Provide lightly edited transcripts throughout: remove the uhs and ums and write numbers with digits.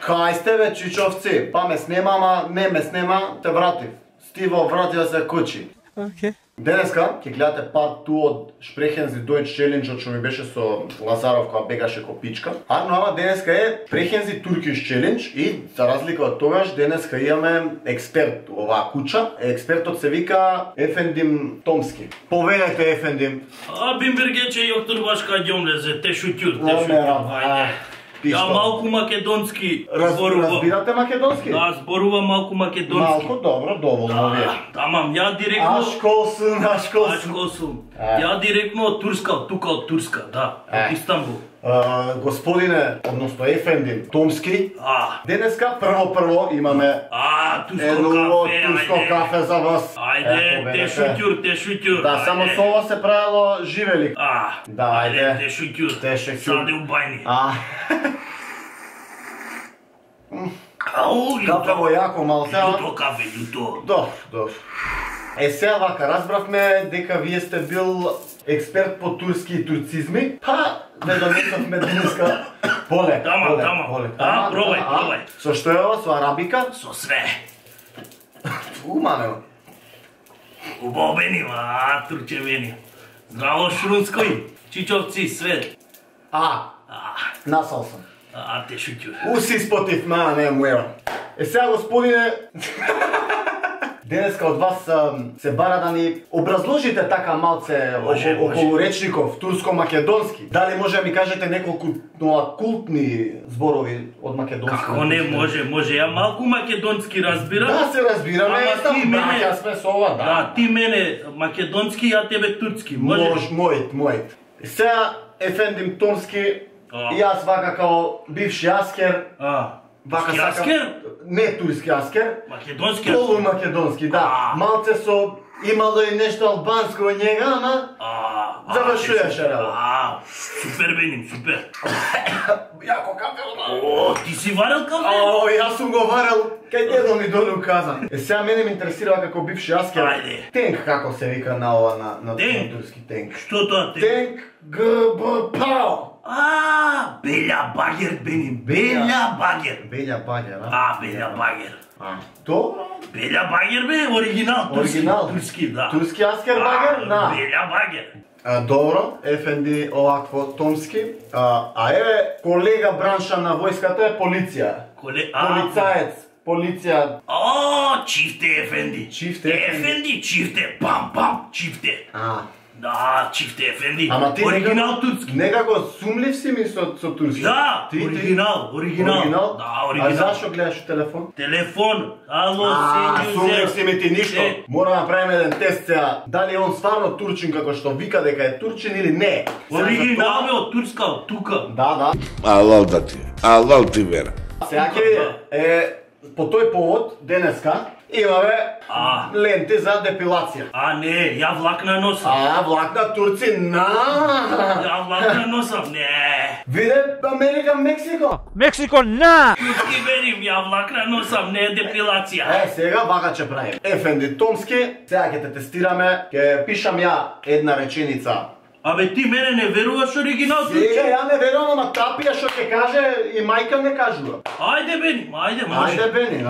Кај сте бе, чичовци? Па ме снема, ама не ме снема, те вратив. Стиво врати да се кучи. Океј. Денеска ќе гледате part 2 од Sprechen Sie Deutsch Challenge што ми беше со Лазаров кога бегаше ко пичка. Ама денеска е Sprechen Sie Turkish Challenge и за разлика од тогаш денеска имаме експерт оваа куча. Експертот се вика Ефендим Томски. Повелете Ефендим. Бимбергече јоктор Башка ѓомлезе, те шутјур, те шутјур. Ја малку македонски зборувам. Разбирате македонски? Да, зборувам малку македонски. Малку, добро, доволно вие. Тамам, ја директно... Ашколсун. Ја директно од Турска, од тука од Турска, да, од Истанбул. Господине, односно Ефендим Томски, денеска прво имаме турско кафе за вас. Ајде, те шутјур. Да, само со ова се правило живелик. Да, ајде. Те шутјур. Саде у бајни. Кафе во јако малце. Љуто кафе, љуто. Добро. Сега вака, разбравме дека вие сте бил експерт по турски и турцизми, па не донесовме денеска полек. Тама, пробај. Со што е ова, со арабика? Со све. Уманено. Убавени, турчевени. Здраво Шрунској, чичовци, све. Насал сам. Те шутјур. Уси спотив, не муева. Сега, господине, денеска од вас се бара да ни образложите така малце околу речников турско-македонски. Дали може да ми кажете неколку култни зборови од македонски? Како не може, ја малку македонски разбирам. Да, се разбираме, браќа сме со ова, да. Да, ти мене македонски, ја тебе турски. Мојт. Сега, Ефендим Томски, јас вака као бивши аскер, турски аскер? Не турски аскер, македонски полу македонски, да. Малце со имало и нешто албанско во njega, ама завршуваше работа. Супер беним, супер. Јако кафе, ти си варел кафе? Јас сум го варел, кај дедо ми долу каза. Сега мене ме интересира како бивши аскер. Тенк како се вика на ова на турски тенк. Што тоа тенк? Тенк ГБПАО. Белја багер беним, Белја багер. Белја багер, Белја багер. Добро. Белја багер бе, оригинал, турски, да. Турски аскер багер, да. Белја багер. Добро, Ефенди овакво Томски. Еве, колега бранша на војската е полиција. Полицаец, полиција. Чифте Ефенди. Ефенди, чифте, пам, чифте. Да, чифте Ефенди. Ама ти оригинал турски. Некако сумлив си ми со турски. Да, оригинал. Да, оригинал. Зашо гледаш телефон? Телефон, ало, сењу. Сумлив си ми ти ништо. Мора да направиме еден тест сега. Дали он стварно турчин како што вика дека е турчин или не? Оригинал е од Турска, од тука. Да. Алал ти вера. Сега ќе видите, по тој повод денеска имаме ленти за депилација. Не, ја влакна носам. Влакна турци, Ја влакна носам, не. Виде Америка, Мексико. Мексико, на! Турски верим, ја влакна носам, не е депилација. Сега вака ќе правим. Ефенди Томски, сега ќе те тестираме, ќе пишам ја една реченица. Абе ти мене не веруваш оригинал турчин? Сега ја не верувам, ама тапија што ќе каже и мајка не кажува. Ајде бени, може. Ајде бени,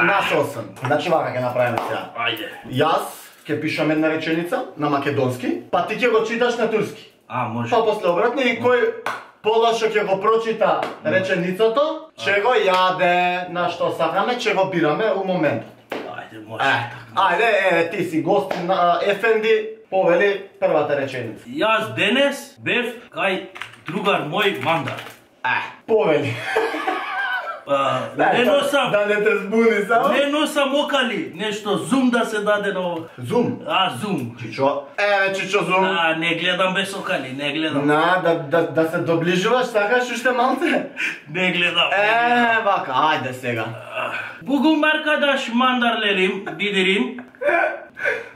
насол сам. Значи вака ќе направиме сега. Ајде. Јас ќе пишам една реченица на македонски, па ти ќе го читаш на турски. Може. Па после обратно и кој полошо ќе го прочита реченицото, ќе го јаде на што сакаме, ќе го бираме у моментот. Ајде, може. Ајде, ти си гостин на Ефенди. Повели првата реченица. Јас денес бев кај другар мој Мандар. Повели. Не носам. Да не те збуни само. Не носам окали. Нешто зум да се даде на ова. Зум? Зум. Чичо. Чичо зум. Не гледам без окали, не гледам. Да се доближуваш, сакаш уште малце? Не гледам. Вака, ајде сега. Бугум аркадаш Мандар бидирим.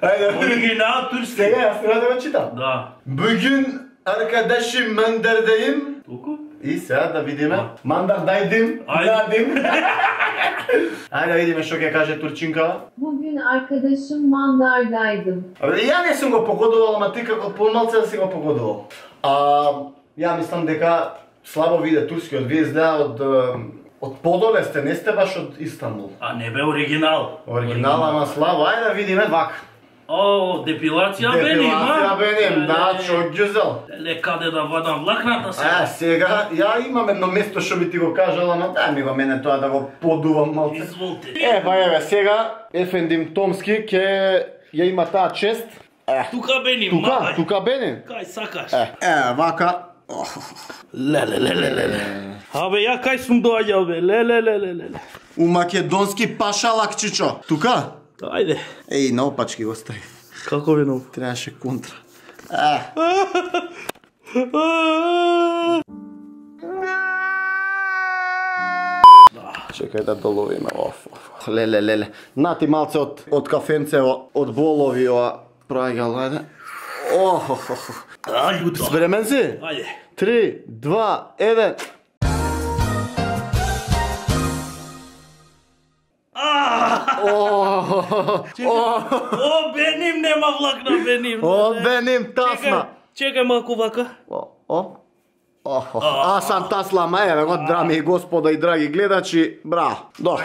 Оригинал турски. Сега јас треба да го читам. Да. Бүгүн аркадаши Мандардайым. Толку? И сега да видиме. Мандардайдим. Надим. Ајде да видиме што ќе каже турчинкава. Bugün arkadaşım Mandardaydım. Ја не сум го погодувал, ама ти како помалце да си го погодувал. Ја мислам дека слабо виде турскиот, вие изгледа Од подоле сте, не сте баш од Истанбул. А не бе оригинал. Оригинал, ама слава, ајде да видиме вака. О, депилација беним, Депилација беним, да, чок ѓузел. Леле, каде да вадам влакната сега? Сега, ја имам едно место што би ти го кажал, ама дај ми го мене тоа да го подувам малце. Изволте. Еве, сега, Ефендим Томски ќе ја има таа чест. Тука беним, мај. Тука беним. Кај сакаш? Вака. Леле. Абе, ја кај сум доаѓал, бе, леле. У македонски пашалак, чичо. Тука? Ајде. Еј, наопачки го стави. Како бе нов? Требаше контра. Чекај да доловиме. Леле. Нати малце од кафенцево, од болови ова прајгал, ајде. Ајде. Спремен си? Ајде. 3, 2, 1. О, беним, нема влакна, беним. О, беним, тасна. Чекај малку вака. Аз сам таслама, еве го, драми и господа и драги гледачи, браво, добро.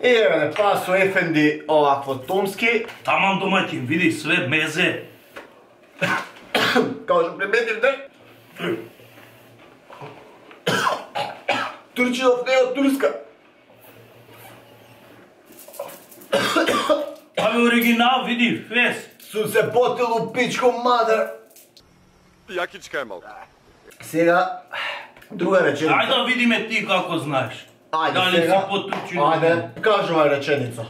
И еве не пасо Ефенди овакво Томски. Таман домаќин, види све мезе. Као што приметив да? Турчинов не е од Турска. Абе оригинал, види, фес. Сум се потил у пичко мадер. Јакичка е малку. Сега, друга реченица. Ајде да видиме ти како знаеш. Ајде Дали сега. си потурчин? Ајде, кажувај реченица.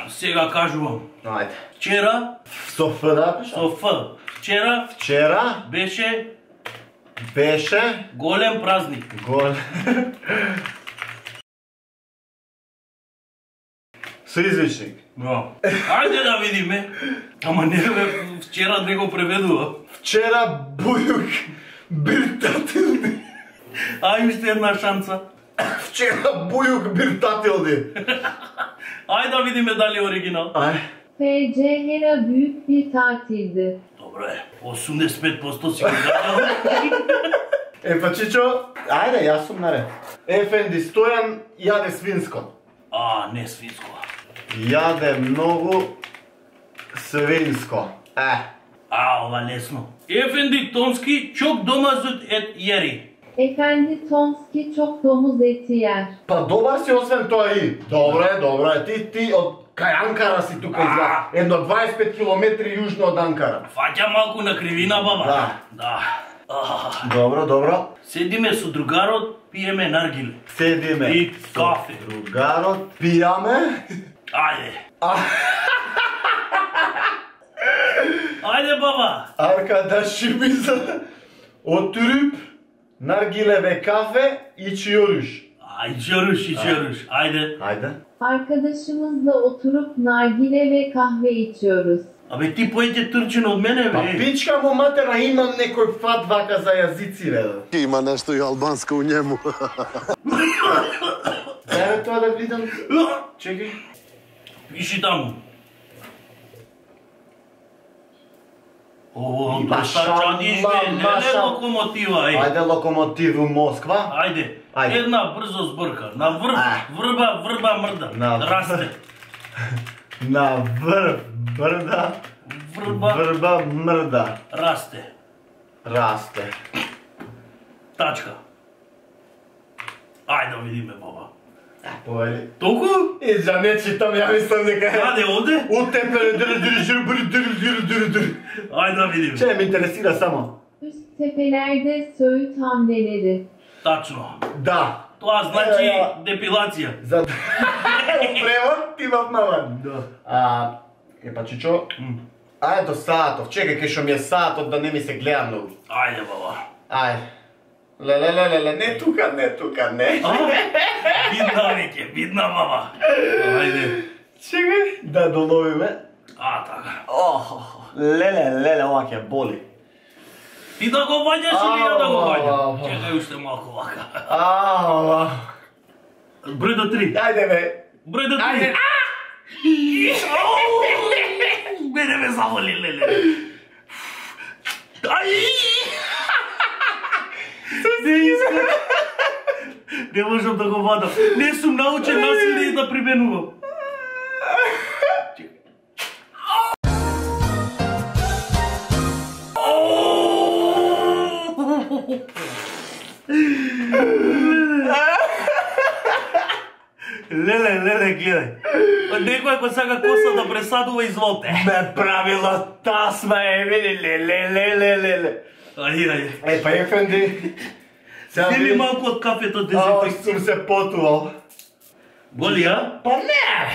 Сега кажувам. Ајде. Вчера, Со Ф да пиша? со Ф. Вчера Вчера беше голем празник. гол. Со извичник. Ајде да видиме. Ама не бе, вчера не го преведува. Вчера бујук биртатилни. Ај уште една шанца. Вчера бујук биртатилни. Ајде да видиме дали е оригинал. FC Hera büyük bir tatildi. Добре, 85% си го дадал. Па чичо, ајде, јас сум наред. Ефенди Стојан јаде свинско. Не свинско. Јаде многу свинско. Ова лесно. Ефенди Томски çok domazut et yeri. Efendi Tomski çok domuz eti yer. Па добар си освен тоа и. Добро е. Ти од кај Анкара си тука изгледа. Едно 25 километри јужно од Анкара. Фаќа малку на кривина, баба. Да. Добро. Седиме со другарот, пиеме наргиле. Седиме. И кафе. Другарот, пијаме. Ајде. Ајде, баба. Arkadaşı bize oturup nargile ve kahve içiyoruz. İçiyoruz. Haydi. Arkadaşımızla oturup nargile ve kahve içiyoruz. Абе ти појде турчин од мене, Па бе. пичка му матера, имам некој фат вака за јазици, бе. Има нешто и албанско у njemu. Дај тоа да видам. Чекај. Виши таму. Доста чадиш, бе, не локомотива, е. Ајде локомотиву Москва. Ајде. Една брзо зборка. На врба мрда. Расте. На врба мрда. Расте. Тачка. Ајде да видиме, баба. Повели. Толку? За не читам, ја мислам дека... Каде оде? Утепеле, Ајде да видиме. Че ме интересира само. Üst tepelerde söğüt hamleleri. Тачно. Да. Тоа значи депилација. За превод имав наван. Па чичо. Ајде до саатов. Чекај кај што ми е саатот да не ми се гледа многу. Ајде, баба. Ајде. Леле, не тука, не. Видна веќе, видна, баба. Ајде. Чекај да доловиме. Така. Леле, ова ќе боли. Ти да го ваѓаш или ја да го ваѓам? Чекај уште малку вака. Број до 3. Ајде бе. Број до 3. Мене ме заволи, леле. Не можам да го вадам. Не сум научен насилие да применувам. Леле, гледај. Некој ако сака коса да пресадува, изволте. Ме правила тасма е, леле. Ајде. Па ефенди. Земи малку од кафето дезинфекција. Сум се потувал. Боли, а? Па не!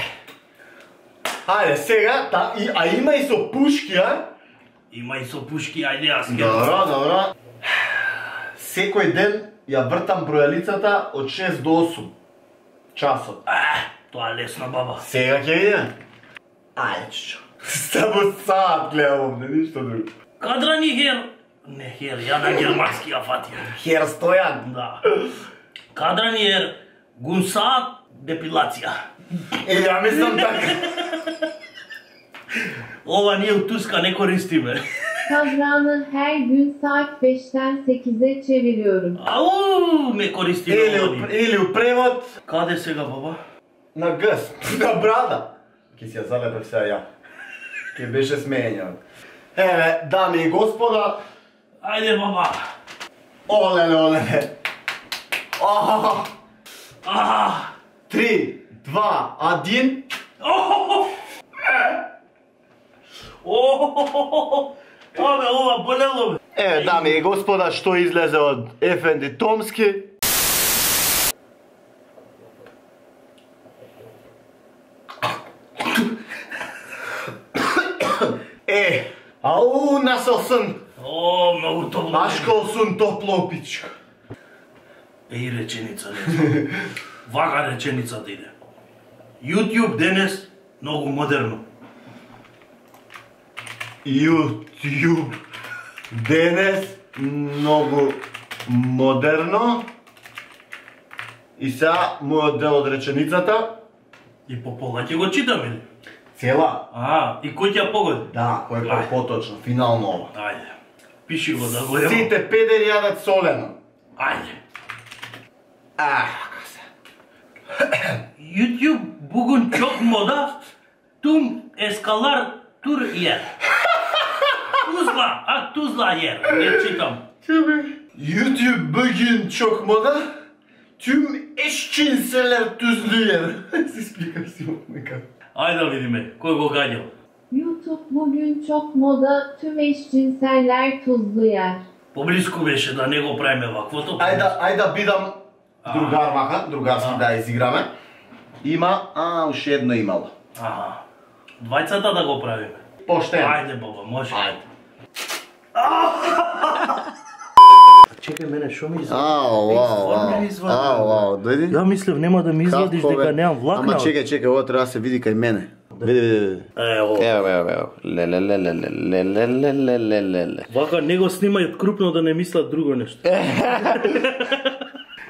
Ајде, сега, а има и со пушки, а? Има и со пушки, ајде јас ќе. Добро. Секој ден ја вртам бројалицата од 6 до 8 часот. Тоа е лесна баба. Сега ќе видиме. Ајде, чичо. Само саат гледам, не ништо друго. Кадрани хер. Не хер, ја на германски ја фатија. Хер Стојан. Да. Кадрани хер, гунсаат депилација. Ја мислам така. Ова ние у Турска не користиме. Kadranı her gün saat 5'ten 8'e çeviriyorum. Ау, не користиме ова. Или у превод Каде сега, баба? на гъс, на брада. Ке си ја залепев сега ја. Ке беше смења. Еве, дами и господа. Ајде, баба. Олеле. 3, 2, 1. Абе, ова болело бе. Еве, дами и господа, што излезе од Ефенди Томски. Ау, насел сын. О, многу топло. Машкал сын топло, пичка. Еј реченица, не. Вака реченицата иде. YouTube денес многу модерно. YouTube денес многу модерно. И сега мојот дел од реченицата. И по пола ќе го читаме ли? Цела? И кој ќе ја погоди? Да, кој е поточно, финално ова. Ајде. Пиши го да го јамо. Сите педери јадат солено. Ајде. Како се? YouTube бугун чок мода, тум ескалар тур јер. Тузла јер, ја читам. YouTube бүгүн чок мода, түм эшчинселер түзлүер. Си спикам си нека. Ајде да видиме, кој го гаѓал. YouTube bugün çok moda, tüm eşcinseller tuzlu yer. Поблиску беше да не го правиме ваквото. Ајде да бидам другар маха, другарски да изиграме. Има, уште едно имало. Двајцата да го правиме. Поштен. Ајде баба, може. Ајде. Чекај мене, шо ми извади? Дојди. Ја мислев нема да ми извадиш дека немам влакна. Ама чекај, ова треба да се види кај мене. Види. Ево. Леле. Вака не го снимајот крупно да не мислат друго нешто. Па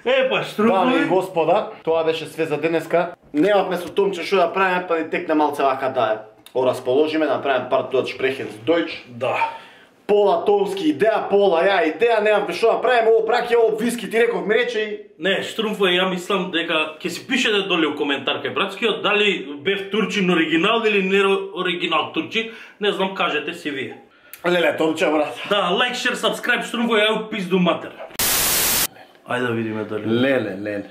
Дами и штруфови. господа, тоа беше све за денеска. Немавме со Томче што да правиме, па ни текна малце вака да го расположиме, направиме пар тоа шпрехен с Дојч. Да. Пола Томски идеја, пола ја идеја, немавме што да правиме, ово праќа, ово виски ти реков ми рече. Не, штруфови, ја мислам дека ќе си пишете доле у коментар кај братскиот дали бев турчин оригинал или не оригинал турчин, не знам, кажете си вие. Леле, Томче, брат. Да, лайк, шер, сабскрайб, штруфови, ја у пизду матер. Ајде да видиме дали. Леле.